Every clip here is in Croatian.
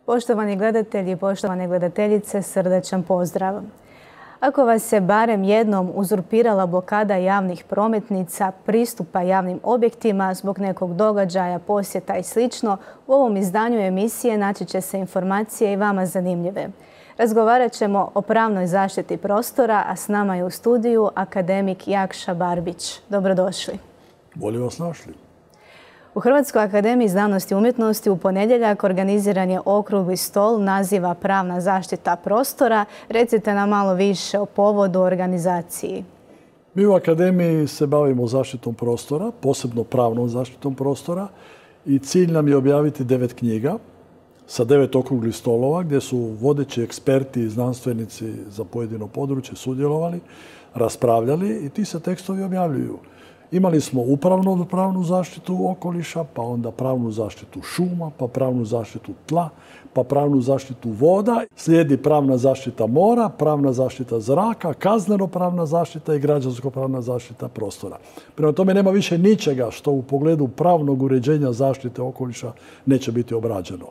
Poštovani gledatelji i poštovane gledateljice, srdačan pozdrav. Ako vas se barem jednom uzurpirala blokada javnih prometnica, pristupa javnim objektima zbog nekog događaja, posjeta i sl., u ovom izdanju emisije naći će se informacije i vama zanimljive. Razgovarat ćemo o pravnoj zaštiti prostora, a s nama je u studiju akademik Jakša Barbić. Dobrodošli. Bolje vas našli. U Hrvatskoj akademiji znanosti i umjetnosti u ponedjeljak organiziran je okrugli stol naziva Pravna zaštita prostora. Recite nam malo više o povodu organizaciji. Mi u akademiji se bavimo zaštitom prostora, posebno pravnom zaštitom prostora, i cilj nam je objaviti 9 knjiga sa 9 okruglih stolova gdje su vodeći eksperti i znanstvenici za pojedino područje sudjelovali, raspravljali i ti se tekstovi objavljuju. Imali smo pravnu zaštitu okoliša, pa onda pravnu zaštitu šuma, pa pravnu zaštitu tla, pa pravnu zaštitu voda. Slijedi pravna zaštita mora, pravna zaštita zraka, kazneno-pravna zaštita i građansko-pravna zaštita prostora. Prema tome nema više ničega što u pogledu pravnog uređenja zaštite okoliša neće biti obrađeno.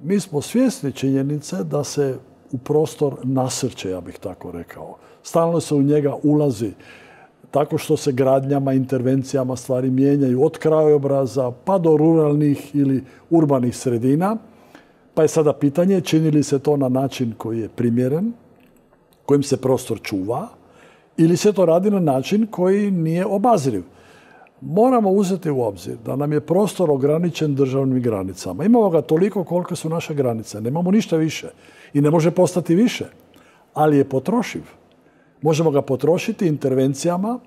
Mi smo svjesni činjenice da se u prostor nasrće, ja bih tako rekao. Stalno se u njega ulazi tako što se gradnjama, intervencijama stvari mijenjaju od krajobraza pa do ruralnih ili urbanih sredina. Pa je sada pitanje čini li se to na način koji je primjeren, kojim se prostor čuva, ili se to radi na način koji nije obazriv. Moramo uzeti u obzir da nam je prostor ograničen državnim granicama. Imamo ga toliko koliko su naše granice. Nemamo ništa više i ne može postati više, ali je potrošiv. Možemo ga potrošiti intervencijama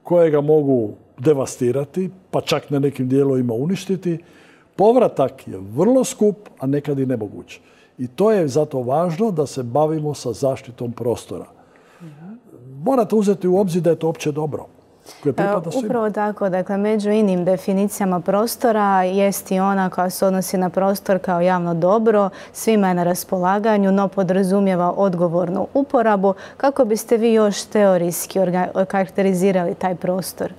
koje ga mogu devastirati, pa čak na nekim dijelovima uništiti. Povratak je vrlo skup, a nekad i nemoguć. I to je zato važno da se bavimo sa zaštitom prostora. Morate uzeti u obzir da je to opće dobro. Upravo tako, dakle, među inim definicijama prostora jest i ona koja se odnosi na prostor kao javno dobro, svima je na raspolaganju, no podrazumijeva odgovornu uporabu. Kako biste vi još teorijski karakterizirali taj prostor?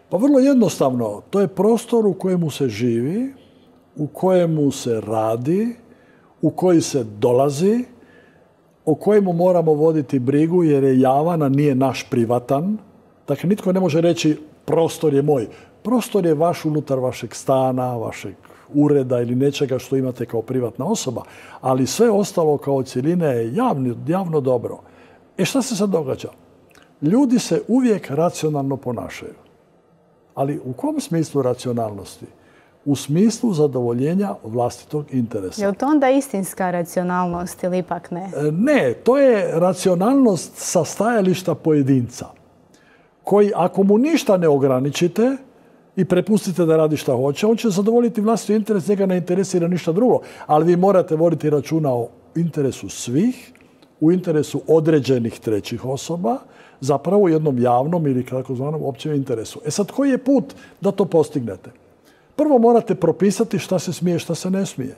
Pa vrlo jednostavno, to je prostor u kojemu se živi, u kojemu se radi, u koji se dolazi, o kojemu moramo voditi brigu jer je javan, a nije naš privatan. Dakle, nitko ne može reći prostor je moj. Prostor je vaš unutar vašeg stana, vašeg ureda ili nečega što imate kao privatna osoba, ali sve ostalo kao cjeline je javno dobro. Šta se sad događa? Ljudi se uvijek racionalno ponašaju. Ali u kom smislu racionalnosti? U smislu zadovoljenja vlastitog interesa. Je li to onda istinska racionalnost ili ipak ne? Ne, to je racionalnost sa stajališta pojedinca, koji ako mu ništa ne ograničite i prepustite da radi šta hoće, on će zadovoljiti vlastiti interes, njega ne interesira ništa drugo. Ali vi morate voditi računa o interesu svih, u interesu određenih trećih osoba, zapravo u jednom javnom ili kako zvanom općem interesu. Sad, koji je put da to postignete? Prvo morate propisati šta se smije, šta se ne smije.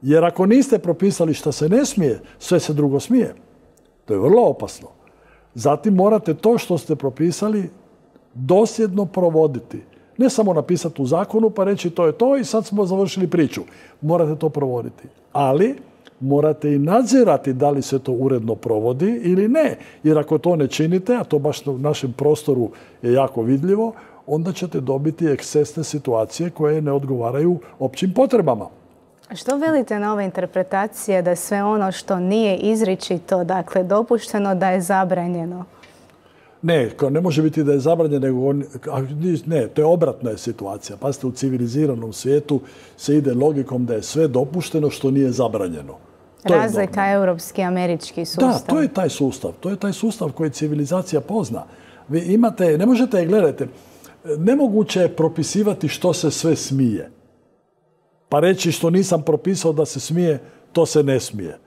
Jer ako niste propisali šta se ne smije, sve se drugo smije. To je vrlo opasno. Zatim morate to što ste propisali dosljedno provoditi. Ne samo napisati u zakonu pa reći to je to i sad smo završili priču. Morate to provoditi. Ali morate i nadzirati da li se to uredno provodi ili ne. Jer ako to ne činite, a to baš u našem prostoru je jako vidljivo, onda ćete dobiti ekscesne situacije koje ne odgovaraju općim potrebama. Što velite na ove interpretacije da sve ono što nije izričito, dakle dopušteno, da je zabranjeno? Ne može biti da je zabranjeno, ne, to je obratna situacija. Pazite, u civiliziranom svijetu se ide logikom da je sve dopušteno što nije zabranjeno. Razlika europski i američki sustav. Da, to je taj sustav. To je taj sustav koji civilizacija pozna. Vi imate, ne možete, gledajte, nemoguće je propisivati što se sve smije. Pa reći što nisam propisao da se smije, to se ne smije.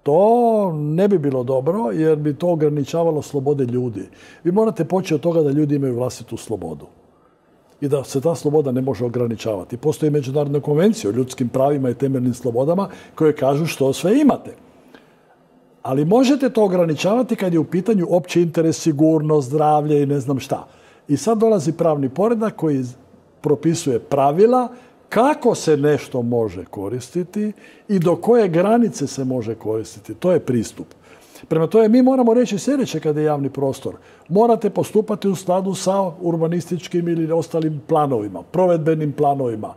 To ne bi bilo dobro jer bi to ograničavalo slobode ljudi. Vi morate početi od toga da ljudi imaju vlastitu slobodu i da se ta sloboda ne može ograničavati. Postoji međunarodna konvencija o ljudskim pravima i temeljnim slobodama koje kažu što sve imate. Ali možete to ograničavati kad je u pitanju opći interes, sigurnost, zdravlje i ne znam šta. I sad dolazi pravni poredak koji propisuje pravila kako se nešto može koristiti i do koje granice se može koristiti. To je pristup. Prema tome, mi moramo reći sljedeće kada je javni prostor. Morate postupati u skladu sa urbanističkim ili ostalim planovima, provedbenim planovima,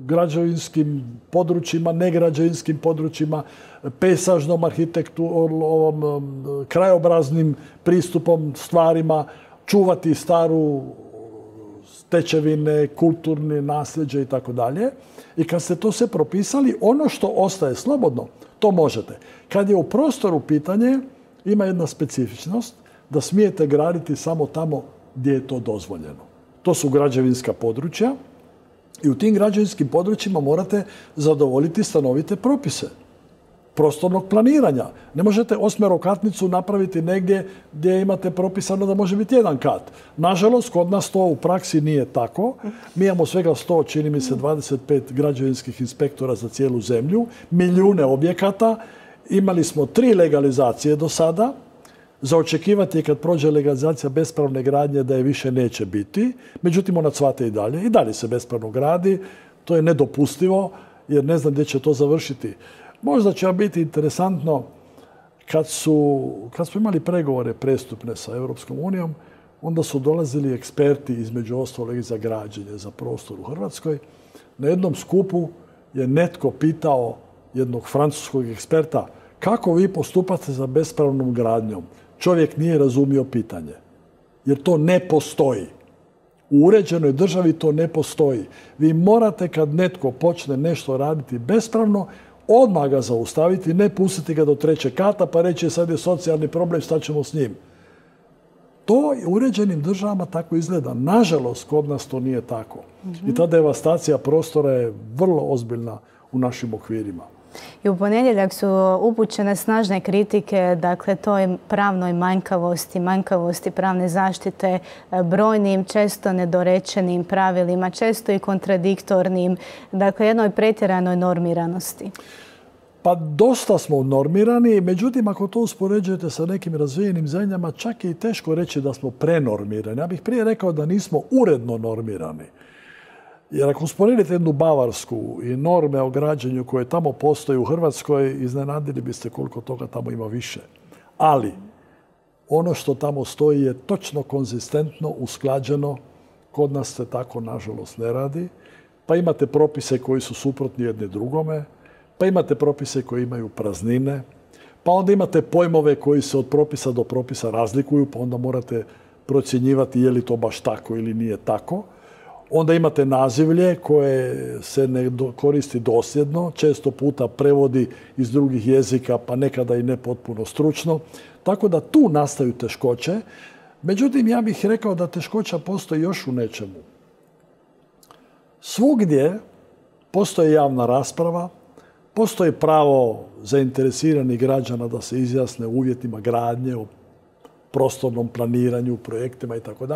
građevinskim područjima, negrađevinskim područjima, pejsažnom arhitekturom, krajobraznim pristupom, stvarima, čuvati staru stečevine, kulturne nasljeđe i tako dalje. I kad ste to sve propisali, ono što ostaje slobodno, to možete. Kad je u prostoru pitanje, ima jedna specifičnost da smijete graditi samo tamo gdje je to dozvoljeno. To su građevinska područja i u tim građevinskim područjima morate zadovoljiti stanovite propise prostornog planiranja. Ne možete osmerokatnicu napraviti negdje gdje imate propisano da može biti jedan kat. Nažalost, kod nas to u praksi nije tako. Mi imamo svega 100, čini mi se, 25 građevinskih inspektora za cijelu zemlju, milijune objekata. Imali smo 3 legalizacije do sada. Za očekivati je kad prođe legalizacija bespravne gradnje da je više neće biti. Međutim, ona cvate i dalje. I dalje se bespravno gradi. To je nedopustivo jer ne znam gdje će to završiti. Možda će vam biti interesantno kad smo imali pregovore prestupne sa Europskom unijom, onda su dolazili eksperti između ostalog i za građenje, za prostor u Hrvatskoj. Na jednom skupu je netko pitao jednog francuskog eksperta kako vi postupate za bespravnom gradnjom. Čovjek nije razumio pitanje, jer to ne postoji. U uređenoj državi to ne postoji. Vi morate kad netko počne nešto raditi bespravno, odmah ga zaustaviti, ne pustiti ga do 3. kata pa reći sad je socijalni problem, šta ćemo s njim. To u uređenim državama tako izgleda. Nažalost, kod nas to nije tako. I ta devastacija prostora je vrlo ozbiljna u našim okvirima. I u ponedjeljak su upućene snažne kritike, dakle, toj pravnoj manjkavosti pravne zaštite, brojnim, često nedorečenim pravilima, često i kontradiktornim, dakle, jednoj pretjeranoj normiranosti. Pa dosta smo normirani, međutim, ako to uspoređujete sa nekim razvijenim zemljama, čak je i teško reći da smo prenormirani. Ja bih prije rekao da nismo uredno normirani. Jer ako usporedite jednu Bavarsku i norme o građenju koje tamo postoje u Hrvatskoj, iznenadili biste koliko toga tamo ima više. Ali ono što tamo stoji je točno konzistentno, usklađeno. Kod nas se tako, nažalost, ne radi. Pa imate propise koji su suprotni jedni drugome, pa imate propise koji imaju praznine, pa onda imate pojmove koji se od propisa do propisa razlikuju, pa onda morate procjenjivati je li to baš tako ili nije tako. Onda imate nazivlje koje se ne koristi dosljedno, često puta prevodi iz drugih jezika, pa nekada i ne potpuno stručno. Tako da tu nastaju teškoće. Međutim, ja bih rekao da teškoća postoji još u nečemu. Svugdje postoji javna rasprava, postoji pravo zainteresiranih građana da se izjasne o uvjetima gradnje, o prostornom planiranju, projektima itd.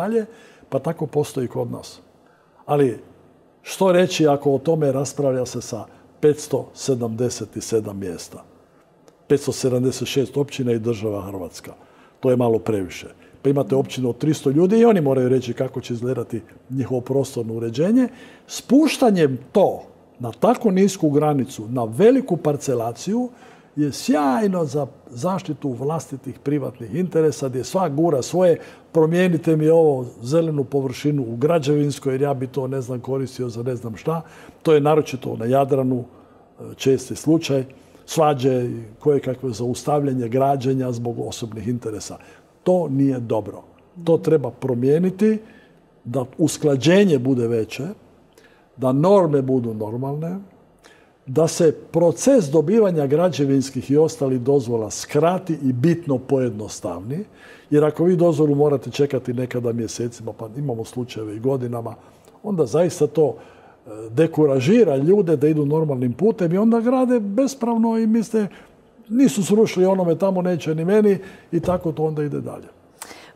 Pa tako postoji i kod nas. Ali što reći ako o tome raspravlja se sa 577 mjesta? 576 općina i država Hrvatska. To je malo previše. Pa imate općinu od 300 ljudi i oni moraju reći kako će izgledati njihovo prostorno uređenje. Spuštanjem to na tako nisku granicu, na veliku parcelaciju, je sjajno za zaštitu vlastitih privatnih interesa, gdje svak gura svoje, promijenite mi ovo zelenu površinu u građevinskoj, jer ja bi to, ne znam, koristio za ne znam šta. To je naročito na Jadranu česti slučaj. Svađe, kojekakve zaustavljanje građenja zbog osobnih interesa. To nije dobro. To treba promijeniti, da usklađenje bude veće, da norme budu normalne, da se proces dobivanja građevinskih i ostalih dozvola skrati i bitno pojednostavni. Jer ako vi dozvolu morate čekati nekada mjesecima, pa imamo slučajeve i godinama, onda zaista to dekuražira ljude da idu normalnim putem i onda grade bespravno i misle nisu srušili onome, tamo neće ni meni i tako to onda ide dalje.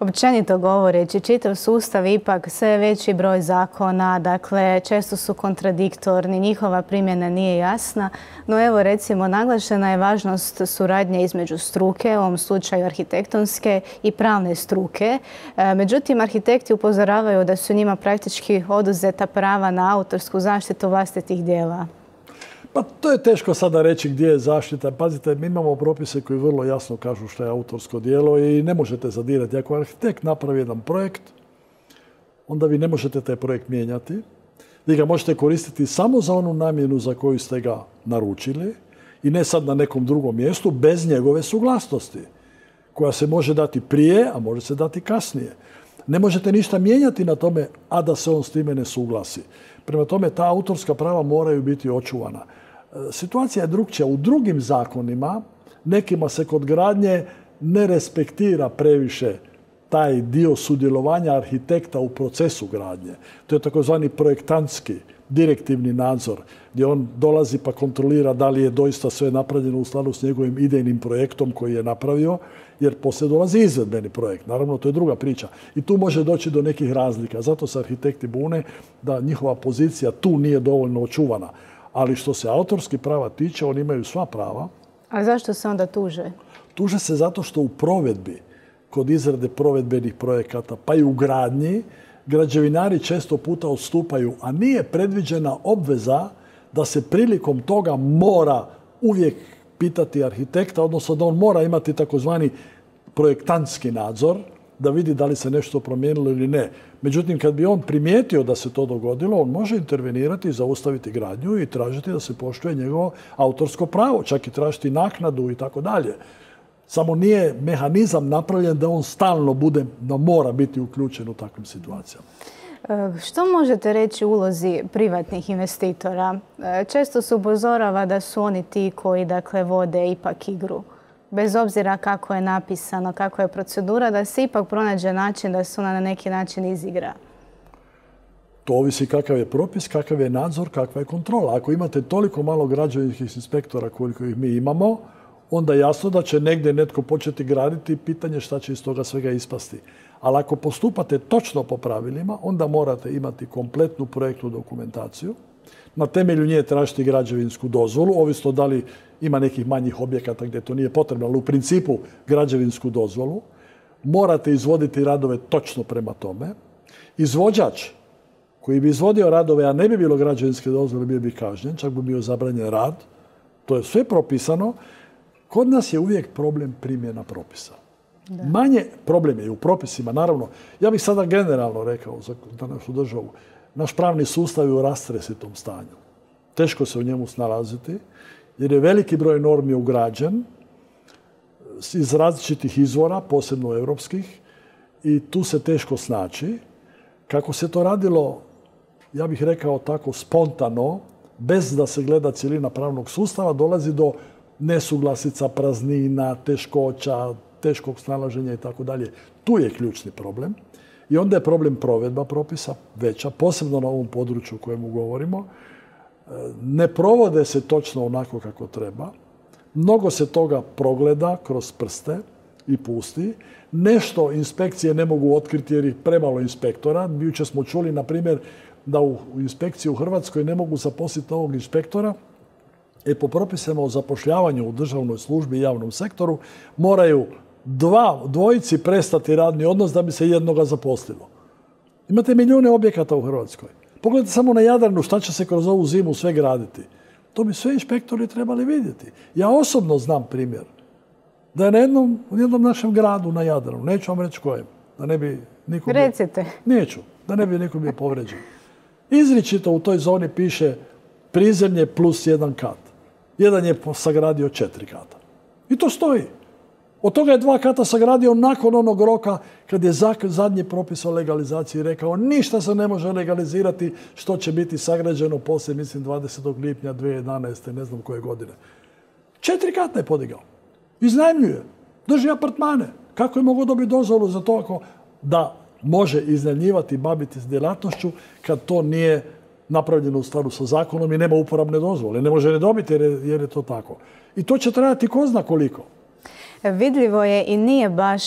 Općenito govoreći, čitav sustav ipak sve veći broj zakona, dakle često su kontradiktorni, njihova primjena nije jasna, no evo recimo naglašena je važnost suradnje između struke, u ovom slučaju arhitektonske i pravne struke. Međutim, arhitekti upozoravaju da su njima praktički oduzeta prava na autorsku zaštitu vlastitih djela. Pa to je teško sada reći gdje je zaštita. Pazite, mi imamo propise koji vrlo jasno kažu što je autorsko djelo i ne možete zadirati. Ako arhitekt napravi jedan projekt, onda vi ne možete taj projekt mijenjati. Vi ga možete koristiti samo za onu namjenu za koju ste ga naručili i ne sad na nekom drugom mjestu bez njegove suglasnosti, koja se može dati prije, a može se dati kasnije. Ne možete ništa mijenjati na tome, a da se on s time ne suglasi. Prema tome, ta autorska prava moraju biti očuvana. Situacija je drukčija. U drugim zakonima, nekima se kod gradnje ne respektira previše taj dio sudjelovanja arhitekta u procesu gradnje. To je takozvani projektantski, direktivni nadzor, gdje on dolazi pa kontrolira da li je doista sve napravljeno u skladu s njegovim idejnim projektom koji je napravio, jer poslije dolazi izvedbeni projekt. Naravno, to je druga priča. I tu može doći do nekih razlika. Zato se arhitekti bune da njihova pozicija tu nije dovoljno očuvana. Ali što se autorskih prava tiče, oni imaju sva prava. A zašto se onda tuže? Tuže se zato što u provedbi, kod izrade provedbenih projekata, pa i u gradnji, građevinari često puta odstupaju, a nije predviđena obveza da se prilikom toga mora uvijek pitati arhitekta, odnosno da on mora imati takozvani projektantski nadzor, da vidi da li se nešto promijenilo ili ne. Međutim, kad bi on primijetio da se to dogodilo, on može intervenirati, zaustaviti gradnju i tražiti da se poštuje njegovo autorsko pravo, čak i tražiti naknadu i tako dalje. Samo nije mehanizam napravljen da on stalno bude, da mora biti uključen u takvim situacijama. Što možete reći o ulozi privatnih investitora? Često se upozorava da su oni ti koji vode ipak igru. Bez obzira kako je napisano, kako je procedura, da se ipak pronađe način da se ona na neki način izigra. To ovisi kakav je propis, kakav je nadzor, kakva je kontrola. Ako imate toliko malo građevinskih inspektora koliko ih mi imamo, onda je jasno da će negdje netko početi graditi i pitanje šta će iz toga svega ispasti. Ali ako postupate točno po pravilima, onda morate imati kompletnu projektnu dokumentaciju. Na temelju nje tražiti građevinsku dozvolu, ovisno da li ima nekih manjih objekata gdje to nije potrebno, ali u principu građevinsku dozvolu. Morate izvoditi radove točno prema tome. Izvođač koji bi izvodio radove, a ne bi bilo građevinske dozvole, bio bi kažnjen, čak bi bio zabranjen rad. To je sve propisano. Kod nas je uvijek problem primjena propisa. Da. Manje problem je u propisima, naravno. Ja bih sada generalno rekao za našu državu, naš pravni sustav je u rastresitom stanju. Teško se u njemu snalaziti, jer je veliki broj normi ugrađen iz različitih izvora, posebno europskih, i tu se teško snaći. Kako se to radilo, ja bih rekao tako spontano, bez da se gleda cjelina pravnog sustava, dolazi do nesuglasica, praznina, teškoća, teškog snalaženja i tako dalje. Tu je ključni problem. I onda je problem provedba propisa veća, posebno na ovom području o kojemu govorimo. Ne provode se točno onako kako treba. Mnogo se toga progleda kroz prste i pusti. Nešto inspekcije ne mogu otkriti jer ih premalo inspektora. Jučer smo čuli, na primjer, da u inspekciji u Hrvatskoj ne mogu zaposliti novog inspektora. Po propisima o zapošljavanju u državnoj službi i javnom sektoru moraju dvojici prestati radni odnos da bi se jednoga zaposlilo. Imate milijune objekata u Hrvatskoj. Pogledajte samo na Jadranu šta će se kroz ovu zimu sve graditi. To bi sve inspektori trebali vidjeti. Ja osobno znam primjer da je u jednom našem gradu na Jadranu, neću vam reći kojem, da ne bi niko bio... Recite. Neću, da ne bi niko bio povređen. Izričito u toj zoni piše prizemlje plus 1 kat. Jedan je sagradio 4 kata. I to stoji. Od toga je 2 kata sagradio nakon onog roka kad je zadnji propis o legalizaciji rekao ništa se ne može legalizirati što će biti sagrađeno poslije, mislim, 20. lipnja 2011. ne znam koje godine. 4 kata je podigao. Iznajmljuje. Drži apartmane. Kako je mogao dobiti dozvolu za to da može iznajmljivati i baviti s djelatnošću kad to nije napravljeno u skladu sa zakonom i nema uporabne dozvole. Ne može ne dobiti jer je to tako. I to će trajati ko zna koliko. Vidljivo je i nije baš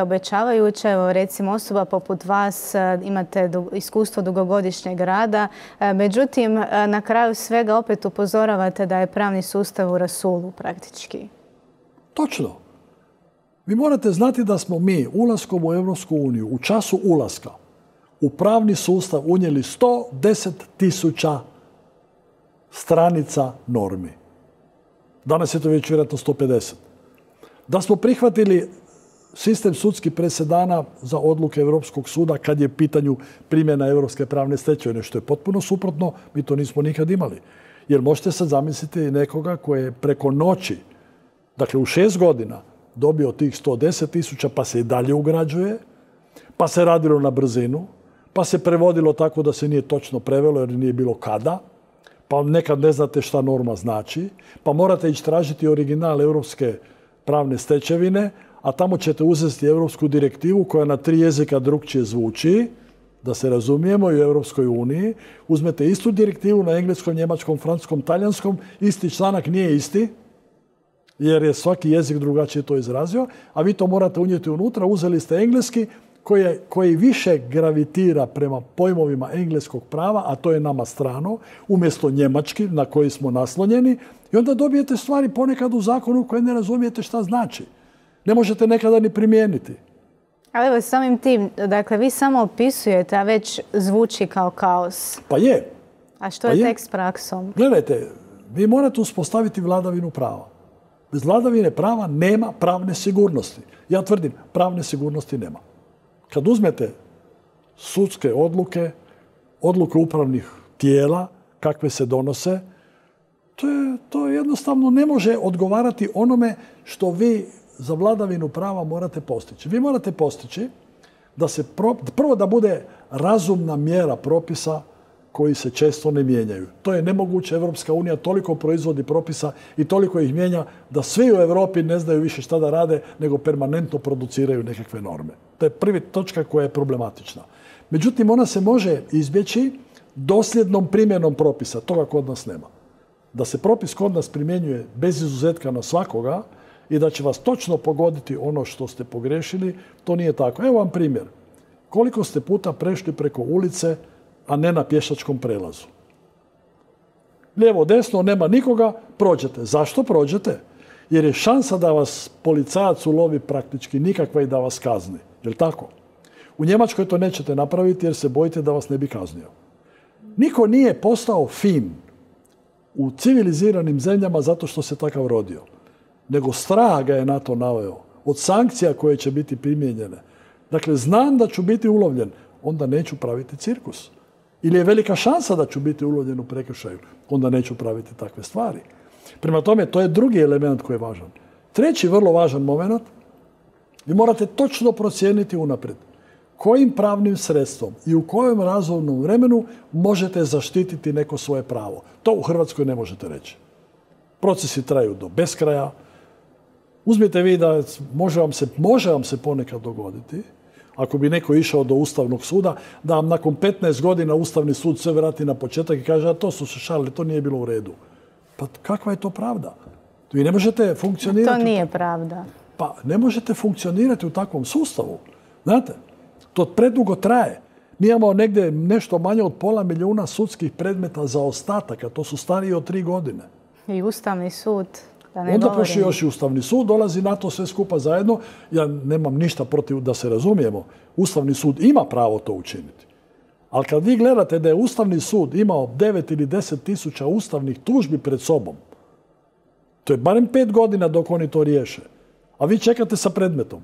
obećavajuće. Evo, recimo, osoba poput vas, imate iskustvo dugogodišnjeg rada. Međutim, na kraju svega opet upozoravate da je pravni sustav u rasulu praktički. Točno. Vi morate znati da smo mi ulaskom u Europsku uniju, u času ulaska, u pravni sustav unijeli 110.000 stranica normi. Danas je to već vjerojatno 150. Da smo prihvatili sistem sudskih presedana za odluke Europskog suda kad je pitanju primjena europske pravne stečevine, što je potpuno suprotno, mi to nismo nikad imali. Jer možete sad zamisliti nekoga koji je preko noći, dakle u 6 godina, dobio tih 110.000, pa se i dalje ugrađuje, pa se radilo na brzinu, pa se prevodilo tako da se nije točno prevelo jer nije bilo kada, pa nekad ne znate šta norma znači, pa morate ići tražiti original europske pravne stečevine, a tamo ćete uzeti europsku direktivu koja na 3 jezika drukčije zvuči, da se razumijemo, i u Europskoj uniji. Uzmete istu direktivu na engleskom, njemačkom, francuskom, talijanskom, isti članak nije isti, jer je svaki jezik drugačije to izrazio, a vi to morate unijeti unutra. Uzeli ste engleski koji više gravitira prema pojmovima engleskog prava, a to je nama strano, umjesto njemački na koji smo naslonjeni, i onda dobijete stvari ponekad u zakonu koje ne razumijete šta znači. Ne možete nekada ni primijeniti. Ali evo, samim tim, dakle, vi samo opisujete, a već zvuči kao kaos. Pa je. A što je tek s praksom? Gledajte, vi morate uspostaviti vladavinu prava. Bez vladavine prava nema pravne sigurnosti. Ja tvrdim, pravne sigurnosti nema. Kad uzmete sudske odluke, odluke upravnih tijela, kakve se donose, to jednostavno ne može odgovarati onome što vi za vladavinu prava morate postići. Vi morate postići da se prvo da bude razumna mjera propisa koji se često ne mijenjaju. To je nemoguće. Europska unija toliko proizvodi propisa i toliko ih mijenja da svi u Europi ne znaju više šta da rade, nego permanentno produciraju nekakve norme. To je prva točka koja je problematična. Međutim, ona se može izbjeći dosljednom primjenom propisa. Toga kod nas nema. Da se propis kod nas primjenjuje bez izuzetka na svakoga i da će vas točno pogoditi ono što ste pogrešili, to nije tako. Evo vam primjer. Koliko ste puta prešli preko ulice, a ne na pješačkom prelazu? Lijevo, desno, nema nikoga, prođete. Zašto prođete? Jer je šansa da vas policajac ulovi praktički nikakva i da vas kazni. Je li tako? U Njemačkoj to nećete napraviti jer se bojite da vas ne bi kaznio. Niko nije postao fin u civiliziranim zemljama zato što se takav rodio. Nego strah ga je na to naveo. Od sankcija koje će biti primijenjene. Dakle, znam da ću biti ulovljen, onda neću praviti cirkus. Ili je velika šansa da ću biti ulovljen u prekršaju, onda neću praviti takve stvari. Prema tome, to je drugi element koji je važan. Treći vrlo važan moment, vi morate točno procijeniti unaprijed kojim pravnim sredstvom i u kojem razumnom vremenu možete zaštititi neko svoje pravo. To u Hrvatskoj ne možete reći. Procesi traju do beskraja. Uzmite vi da može vam se ponekad dogoditi, ako bi neko išao do Ustavnog suda, da vam nakon 15 godina Ustavni sud sve vrati na početak i kaže, a to su se šalili, to nije bilo u redu. Pa kakva je to pravda? Vi ne možete funkcionirati... To nije pravda. Pa ne možete funkcionirati u takvom sustavu. Znate, to predugo traje. Mi imamo negdje nešto manje od 500 000 sudskih predmeta za ostataka. To su stariji od 3 godine. I Ustavni sud, da ne onda govorim. pošli još i Ustavni sud, dolazi na to sve skupa zajedno. Ja nemam ništa protiv da se razumijemo. Ustavni sud ima pravo to učiniti. Ali kad vi gledate da je Ustavni sud imao 9 ili 10 tisuća ustavnih tužbi pred sobom, to je barem 5 godina dok oni to riješe. A vi čekate sa predmetom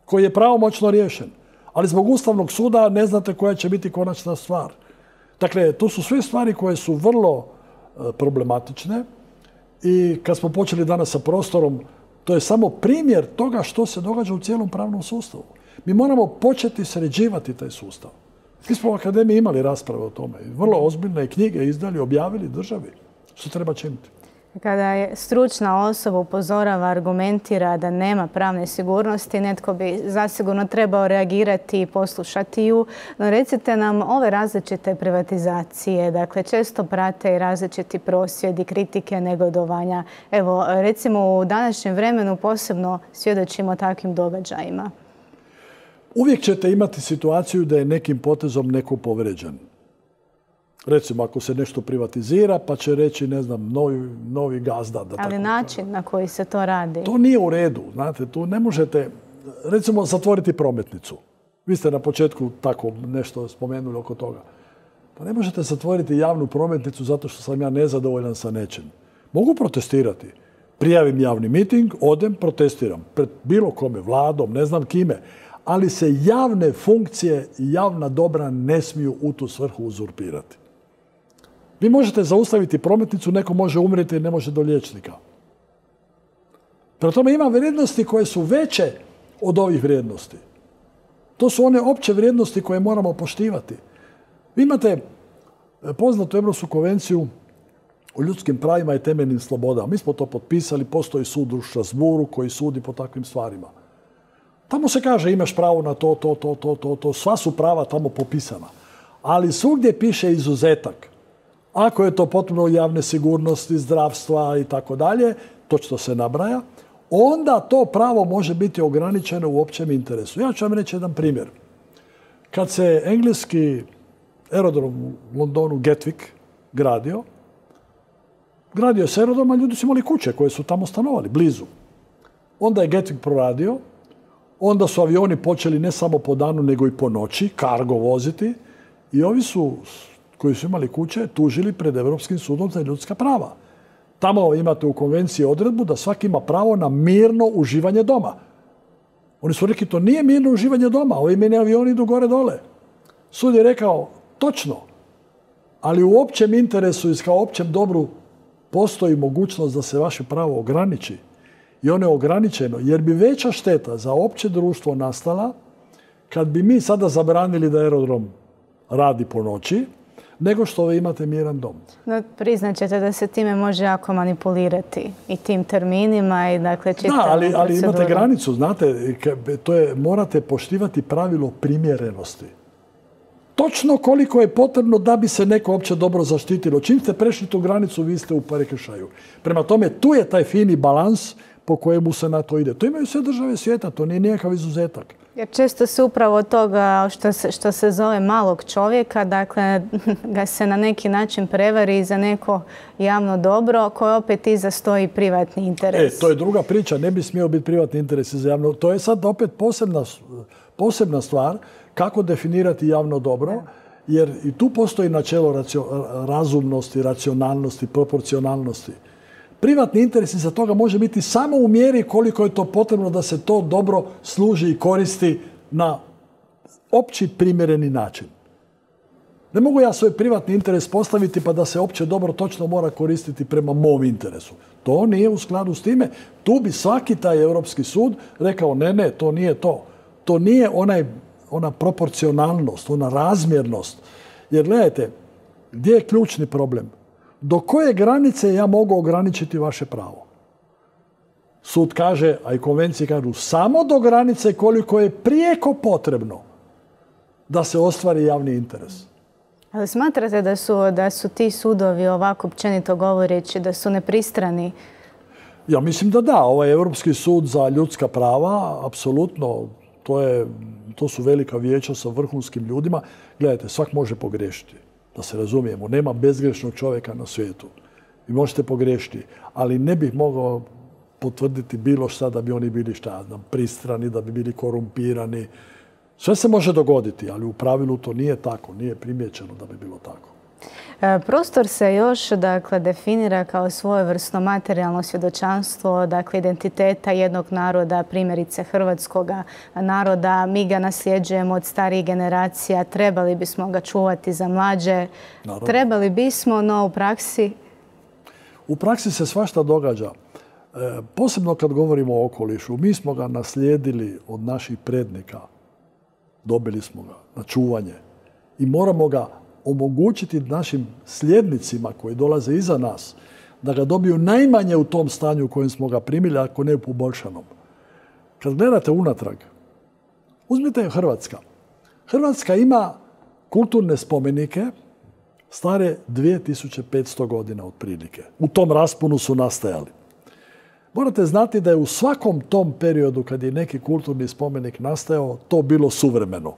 koji je pravomoćno riješen. Ali zbog Ustavnog suda ne znate koja će biti konačna stvar. Dakle, to su sve stvari koje su vrlo problematične i kad smo počeli danas sa prostorom, to je samo primjer toga što se događa u cijelom pravnom sustavu. Mi moramo početi sređivati taj sustav. Mi smo u Akademiji imali rasprave o tome. Vrlo ozbiljne knjige izdali, objavili državi. Što treba činiti? Kada je stručna osoba upozorava, argumentira da nema pravne sigurnosti, netko bi zasigurno trebao reagirati i poslušati ju. No recite nam, ove različite privatizacije, dakle često prate i različiti prosvjedi, kritike, negodovanja. Evo, recimo u današnjem vremenu posebno svjedočimo takvim događajima. Uvijek ćete imati situaciju da je nekim potezom neko povrijeđen. Recimo, ako se nešto privatizira, pa će reći, ne znam, novi gazda. Ali način na koji se to radi? To nije u redu. Znate, tu ne možete, recimo, zatvoriti prometnicu. Vi ste na početku tako nešto spomenuli oko toga. Pa ne možete zatvoriti javnu prometnicu zato što sam ja nezadovoljan sa nečim. Mogu protestirati. Prijavim javni miting, odem, protestiram. Pred bilo kome, vladom, ne znam kime. Ali se javne funkcije i javna dobra ne smiju u tu svrhu uzurpirati. Vi možete zaustaviti prometnicu, neko može umrijeti i ne može do liječnika. Prema tome ima vrijednosti koje su veće od ovih vrijednosti. To su one opće vrijednosti koje moramo poštivati. Vi imate poznatu Europsku konvenciju o ljudskim pravima i temeljnim slobodama. Mi smo to potpisali, postoji sud u Strasbourgu koji sudi po takvim stvarima. Tamo se kaže imaš pravo na to. Sva su prava tamo popisana. Ali svugdje piše izuzetak. Ako je to potpuno javne sigurnosti, zdravstva i tako dalje, točno se nabraja, onda to pravo može biti ograničeno u općem interesu. Ja ću vam reći jedan primjer. Kad se engleski aerodrom u Londonu Gatwick gradio se aerodrom, a ljudi su imali kuće koje su tamo stanovali, blizu. Onda je Gatwick proradio, onda su avioni počeli ne samo po danu, nego i po noći, kargo voziti i ovi su koji su imali kuće, tužili pred Europskim sudom za ljudska prava. Tamo imate u konvenciji odredbu da svaki ima pravo na mirno uživanje doma. Oni su rekli, to nije mirno uživanje doma, ovi meni avioni idu gore dole. Sud je rekao, točno, ali u općem interesu i kao općem dobru postoji mogućnost da se vaše pravo ograniči. I ono je ograničeno, jer bi veća šteta za opće društvo nastala kad bi mi sada zabranili da aerodrom radi po noći, nego što vi imate miran dom. No, priznat ćete da se time može jako manipulirati i tim terminima i dakle čitavom procedurom. Da, ali imate granicu, znate, morate poštivati pravilo primjerenosti. Točno koliko je potrebno da bi se neko opće dobro zaštitilo. Čim ste prešli tu granicu, vi ste u prekršaju. Prema tome, tu je taj fini balans po kojemu se na to ide. To imaju sve države svijeta, to nije nikakav izuzetak. Jer često se upravo toga što se zove malog čovjeka, dakle, ga se na neki način prevari za neko javno dobro koje opet iza stoji privatni interes. To je druga priča, ne bi smio biti privatni interes za javno. To je sad opet posebna stvar kako definirati javno dobro, jer i tu postoji načelo razumnosti, racionalnosti, proporcionalnosti. Privatni interes iza toga može biti samo u mjeri koliko je to potrebno da se to dobro služi i koristi na opći primjereni način. Ne mogu ja svoj privatni interes postaviti pa da se opće dobro točno mora koristiti prema mom interesu. To nije u skladu s time. Tu bi svaki taj Europski sud rekao ne, to nije to. To nije ona proporcionalnost, ona razmjernost. Jer gledajte, gdje je ključni problem? Do koje granice ja mogu ograničiti vaše pravo? Sud kaže, a i konvencije kažu, samo do granice koliko je prijeko potrebno da se ostvari javni interes. Ali smatrate da su ti sudovi, ovako općenito govoreći, da su nepristrani? Ja mislim da da. Ovaj Europski sud za ljudska prava, apsolutno, to su velika vijeća sa vrhunskim ljudima. Gledajte, svak može pogriješiti. Da se razumijemo, nema bezgrešnog čovjeka na svijetu. Vi možete pogriješiti, ali ne bih mogao potvrditi bilo šta da bi oni bili pristrani, da bi bili korumpirani. Sve se može dogoditi, ali u pravilu to nije tako, nije primijećeno da bi bilo tako. Prostor se još definira kao svojevrsno materijalno svjedočanstvo, identiteta jednog naroda, primjerice hrvatskog naroda. Mi ga nasljeđujemo od starijih generacija, trebali bismo ga čuvati za mlađe. Naravno. Trebali bismo, no u praksi? U praksi se svašta događa. Posebno kad govorimo o okolišu. Mi smo ga naslijedili od naših prednika. Dobili smo ga na čuvanje i moramo ga omogućiti našim sljednicima koji dolaze iza nas da ga dobiju najmanje u tom stanju u kojem smo ga primili, ako ne u poboljšanom. Kad gledate unatrag, uzmite Hrvatska. Hrvatska ima kulturne spomenike stare 2500 godina otprilike. U tom rasponu su nastajali. Morate znati da je u svakom tom periodu kad je neki kulturni spomenik nastajao, to bilo suvremeno.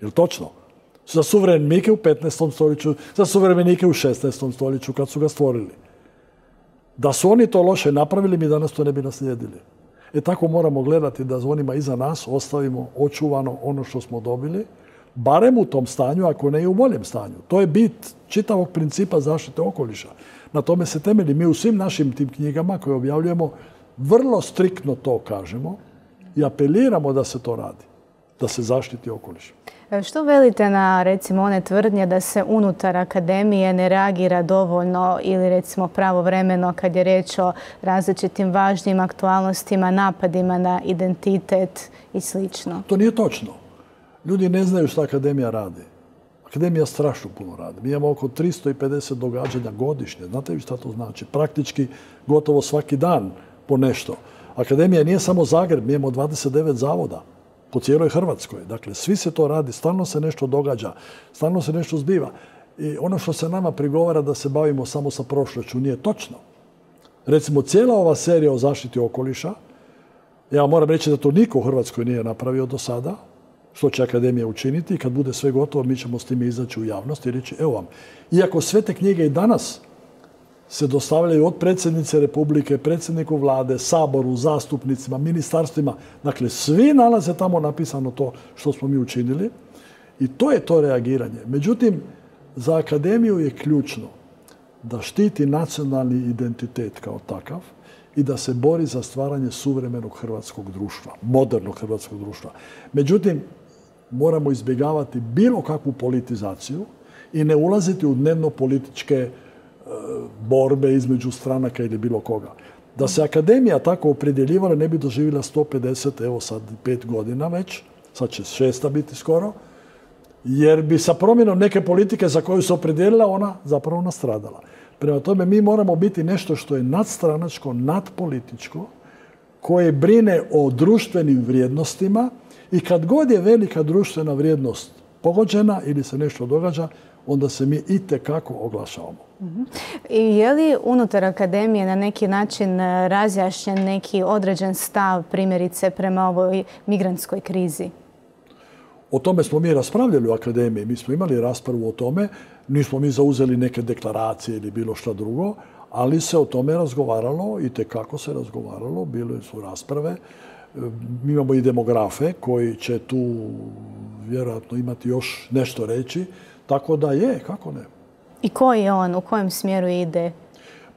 Je li točno? Za suvremenike u 15. stoljeću, za suvremenike u 16. stoljeću kad su ga stvorili. Da su oni to loše napravili, mi danas to ne bi naslijedili. Tako moramo gledati da za onima iza nas ostavimo očuvano ono što smo dobili, barem u tom stanju, ako ne i u boljem stanju. To je bit čitavog principa zaštite okoliša. Na tome se temelji. Mi u svim našim tim knjigama koje objavljujemo vrlo striktno to kažemo i apeliramo da se to radi, da se zaštiti okoliš. Što velite na, recimo, one tvrdnje da se unutar akademije ne reagira dovoljno ili, recimo, pravovremeno kad je riječ o različitim važnim aktualnostima, napadima na identitet i slično? To nije točno. Ljudi ne znaju što akademija radi. Akademija strašno puno radi. Mi imamo oko 350 događanja godišnje. Znate vi šta to znači? Praktički gotovo svaki dan po nešto. Akademija nije samo Zagreb, mi imamo 29 zavoda po cijeloj Hrvatskoj. Dakle, svi se to radi, stalno se nešto događa, stalno se nešto zbiva. I ono što se nama prigovara da se bavimo samo sa prošlošću nije točno. Recimo, cijela ova serija o zaštiti okoliša, ja moram reći da to niko u Hrvatskoj nije napravio do sada, što će akademija učiniti i kad bude sve gotovo mi ćemo s time izaći u javnost i reći evo vam. Iako sve te knjige i danas se dostavljaju od predsjednice Republike, predsjedniku vlade, Saboru, zastupnicima, ministarstvima. Dakle, svi nalaze tamo napisano to što smo mi učinili i to je to reagiranje. Međutim, za akademiju je ključno da štiti nacionalni identitet kao takav i da se bori za stvaranje suvremenog hrvatskog društva, modernog hrvatskog društva. Međutim, moramo izbjegavati bilo kakvu politizaciju i ne ulaziti u dnevno političke borbe između stranaka ili bilo koga. Da se akademija tako opredjeljivala ne bi doživjela 150, evo sad 5 godina već, sad će 6 biti skoro, jer bi sa promjenom neke politike za koju se opredjelila ona zapravo nastradala. Prema tome mi moramo biti nešto što je nadstranačko, nadpolitičko, koje brine o društvenim vrijednostima i kad god je velika društvena vrijednost pogođena ili se nešto događa, onda se mi itekako oglašavamo. I je li unutar akademije na neki način razjašnjen neki određen stav, primjerice, prema ovoj migrantskoj krizi? O tome smo mi raspravljali u akademiji. Mi smo imali raspravu o tome. Nismo mi zauzeli neke deklaracije ili bilo šta drugo, ali se o tome razgovaralo, itekako se razgovaralo. Bile su rasprave. Mi imamo i demografe koji će tu vjerojatno imati još nešto reći. Tako da je, kako ne. I koji je on? U kojem smjeru ide?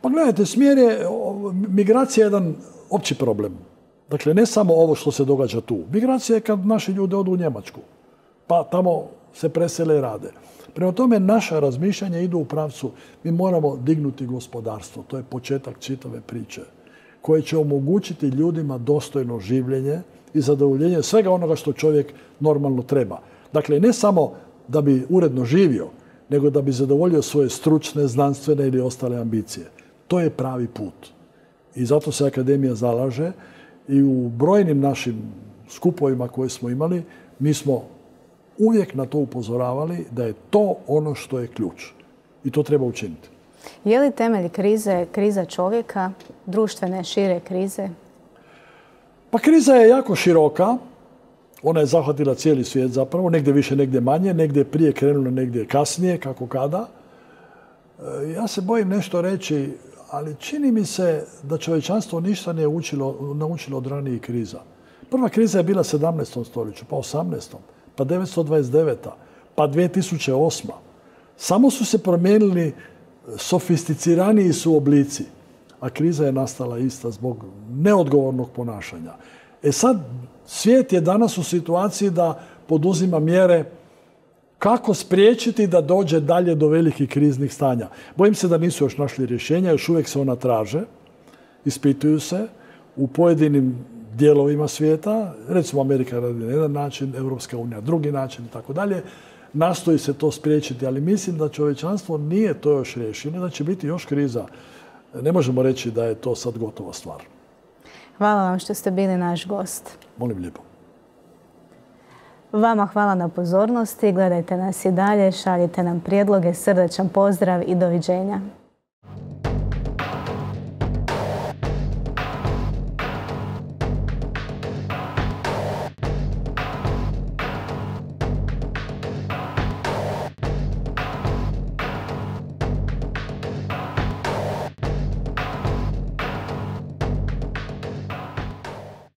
Pa gledajte, smjer je, migracija je jedan opći problem. Dakle, ne samo ovo što se događa tu. Migracija je kad naši ljudi odu u Njemačku, pa tamo se presele i rade. Prema tome, naša razmišljanja idu u pravcu, mi moramo dignuti gospodarstvo. To je početak čitave priče, koje će omogućiti ljudima dostojno življenje i zadovoljenje svega onoga što čovjek normalno treba. Dakle, ne samo da bi uredno živio, nego da bi zadovoljio svoje stručne, znanstvene ili ostale ambicije. To je pravi put. I zato se akademija zalaže i u brojnim našim skupovima koje smo imali, mi smo uvijek na to upozoravali da je to ono što je ključ. I to treba učiniti. Je li temelj krize kriza čovjeka, društvene, šire krize? Pa kriza je jako široka. Ona je zahvatila cijeli svijet zapravo, negdje više, negdje manje, negdje je prije krenulo, negdje kasnije, kako kada. Ja se bojim nešto reći, ali čini mi se da čovječanstvo ništa nije naučilo od ranijih kriza. Prva kriza je bila 17. stoljeću, pa 18. pa 929. pa 2008. Samo su se promijenili, sofisticiraniji su oblici, a kriza je nastala ista zbog neodgovornog ponašanja. Sad, svijet je danas u situaciji da poduzima mjere kako spriječiti da dođe dalje do velikih kriznih stanja. Bojim se da nisu još našli rješenja, još uvijek se ona traže, ispituju se u pojedinim dijelovima svijeta. Recimo Amerika radi na jedan način, Europska unija drugi način i tako dalje. Nastoji se to spriječiti, ali mislim da čovječanstvo nije to još riješilo, da će biti još kriza ne možemo reći da je to sad gotova stvar. Hvala vam što ste bili naš gost. Molim lijepo. Vama hvala na pozornosti. Gledajte nas i dalje, šaljite nam prijedloge, srdačan pozdrav i doviđenja.